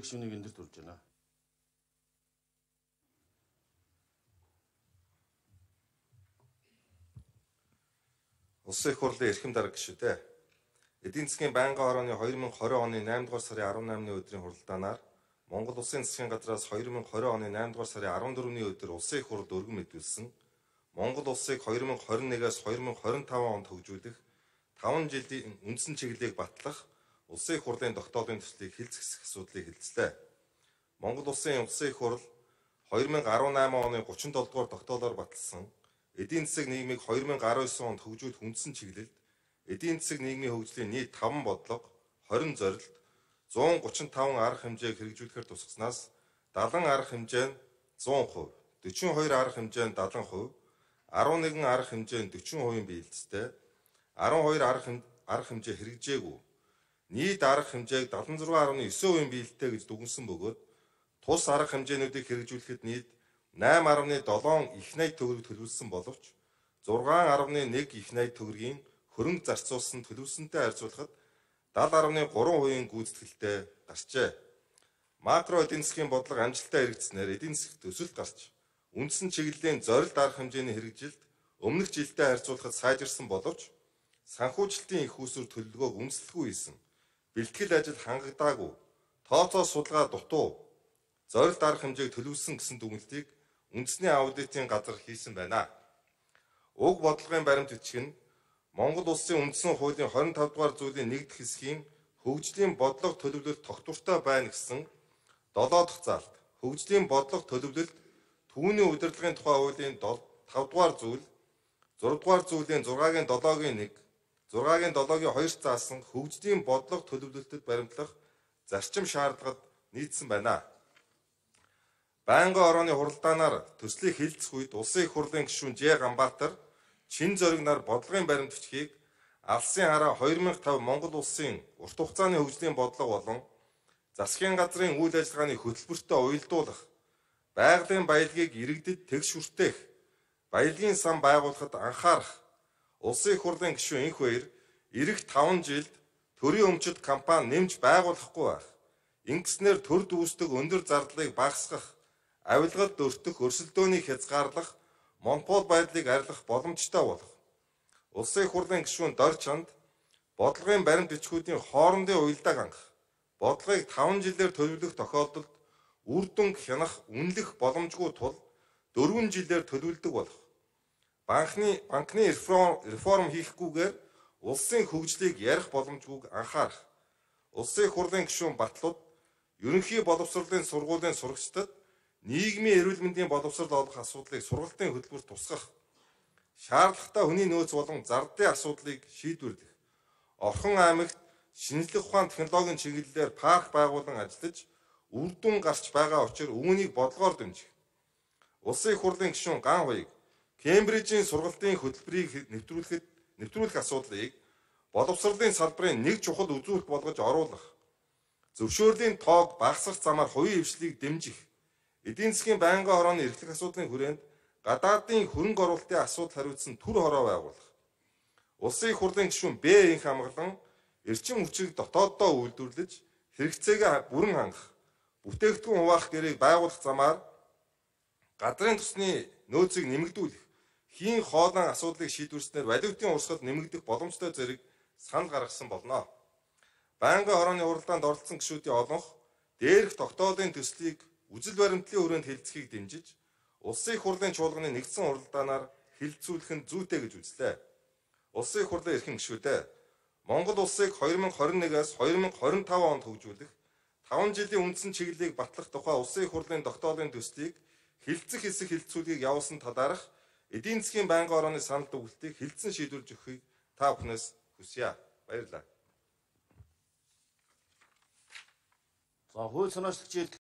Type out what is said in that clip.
гишүүнийг энэ дэр төрж байна. Улсын их хурлын эрхэм дарга гишүүдээ. Эдийн засгийн байнгын хорооны 2020 оны 8 дугаар сарын 18-ны өдрийн хуралдаанаар Монгол Улсын засгийн газраас 2020 оны 8 дугаар сарын 14-ний өдөр Улсын их хурлд өргөн мэдүүлсэн Монгол Улсыг 2021-ээс 2025 онд хөгжүүлэх 5 жилийн үндсэн чиглэлийг батлах Улсын их хурлын тогтоолын төслийг хэлцэх асуудлыг хэлцлээ. Монгол Улсын их хурл 2018 оны 37 дугаар тогтоолоор баталсан эдийн засаг нийгмийг 2019 онд хөгжүүлэх үндсэн чиглэлд эдийн засаг нийгмийн хөгжлийн нийт 5 бодлого, 20 зорилт, 135 арга хэмжээг хэрэгжүүлэхээр тусгаснаас 70 арга хэмжээ нь 100%, 42 арга хэмжээ нь 70%, 11 арга хэмжээ нь 40% биелэлцтэй, 12 арга хэмжээ хэрэгжээгүй, нийт арга хэмжээг 76.9% биелэлтэй гэж дүгнсэн бөгөөд тус арга хэмжээнүүдийг хэрэгжүүлэхэд нийт 8.7 их найт төгрөг төлөвлөсөн боловч 6.1 их найт төгрөгийн хөрөнгө зарцуулсан төлөвлөсөнтэй харьцуулахад 70.3% гүйцэтгэлтэй гарчээ. Макро эдийн засгийн бодлого амжилттай хэрэгжснээр эдийн засгт төсөлд гарч үндсэн чиглэлийн зорилт арга хэмжээний хэрэгжилт өмнөх жилдээ харьцуулахад сайжирсан боловч санхүүжилтийн их усүр төлөвлөгөөг үнэлэхгүй хийсэн. Бэлтгэл ажил хангагдаагүй, тооцоо судалгаа дутуу, зорилт арга хэмжээг төлөвлөсөн гэсэн дүгнэлтийг үндэсний аудитын газар хийсэн байна. Уг бодлогын баримт бичиг нь Монгол Улсын үндсэн хуулийн 25 дугаар зүйлийн 1 дэх хэсгийн хөгжлийн бодлого төлөвлөлт тогтвортой байна гэсэн 7 дахь заалт, хөгжлийн бодлого төлөвлөлт түүний удирдлагын тухай хуулийн 5 дугаар зүйл, 6 дугаар зүйлийн 6-гийн 7-гийн 1, 6-гийн 7-гийн 2 заасан хөгжлийн бодлого төлөвлөлтөд баримтлах зарчим шаардлагад нийцсэн байна. Байнгын хорооны хуралдаанаар төслийг хэлцэх үед Улсын их хурлын гишүүн Ж. Ганбаатар, Чин зориг нар бодлогын баримт бичгийг алсын хараа 2005 Монгол Улсын урт хугацааны хөгжлийн бодлого болон засгийн газрын үйл ажиллагааны хөтөлбөртөө уялдуулах, байгалийн баялагийг иргэдэд тэгш хүртээх, баялагын сан байгуулахад анхаарах Улсын их хурлын гишүүн энх баяр ирэх 5 жилд төрийн өмчит компани нэмж байгуулахгүй байх. Ингэснээр төр дүүсдэг өндөр зардлыг багасгах, авилгалд өртөх, өрсөлдөөнийг хязгаарлах, монопол байдлыг арилгах боломжтой болох. Улсын их хурлын гишүүн Дор Чанд бодлогын баримт бичгүүдийн хоорондын уялдааг хангах, бодлогыг 5 жилээр төлөвлөх тохиолдолд үр дүн хянах, үнэлэх боломжгүй тул 4 жилээр төлөвлөдөг болох. Банкны реформ хийхгүйгээр улсын хөгжлийг ярих боломжгүйг анхаарах. Улсын их хурлын гишүүн Батлууд ерөнхий боловсролын сургуулийн сурагчдад нийгмийн эрүүл мэндийн боловсрол олох асуудлыг сургалтын хөтөлбөрт тусгах, шаардлагатай хүний нөөц болон зардын асуудлыг шийдвэрлэх, Орхон аймагт шинжлэх ухаан технологийн чиглэлээр парк байгуулан ажиллаж үр дүн гарч байгаа учраас үүнийг бодлогоор дэмжих. Улсын их хурлын гишүүн Ган Хуйг Кембрижийн сургалтын хөтөлбөрийг нэвтрүүлэх асуудлыг боловсролын салбарын нэг чухал үзүүлэлт болгож оруулах, зөвшөөрлийн тоог багасгах замаар хувийн хвшлийг дэмжих, эдийн засгийн байнгын хорооны эрхлэх асуудлын хүрээнд гадаадын хөрөнгө оруулалтын асуудал хариуцсан түр хороо байгуулах. Улсын их хурлын гишүүн Б. Инх амгалан эрчим хүчийг дотооддоо үйлдвэрлэж хэрэгцээгээ бүрэн хангах, бүтээгдэхүүн хуваах гэрийг байгуулах замаар газрын тосны нөөцийг нэмэгдүүлэх, хийн хоолойн асуудлыг шийдвэрснээр валютын урсгал нэмэгдэх боломжтой зэрэг санал гаргасан болно. Байнгын хорооны хуралдаанд оролцсон гишүүдийн олонх дээрх тогтоолын төслийг үжил баримтлалын хүрээнд хэлцэхийг дэмжиж, Улсын их хурлын чуулганы нэгдсэн хуралдаанаар хэлэлцүүлэх нь зүйтэй гэж үзлээ. Улсын их хурлын эрхэм гишүүдээ Монгол Улсыг 2021-ээс 2025 онд хөгжүүлэх 5 жилийн үндсэн чиглэлийг батлах тухай Улсын их хурлын тогтоолын төслийг хэлэлцэх хэсэг хэлэлцүүлгийг явуулсан талаарх эдийн засгийн байнгын хорооны санал дүгнэлтийг хэлэлцэн шийдвэрлэж өгөхийг та бүхнээс хүсье. Баярлалаа. За хууль санаачлагч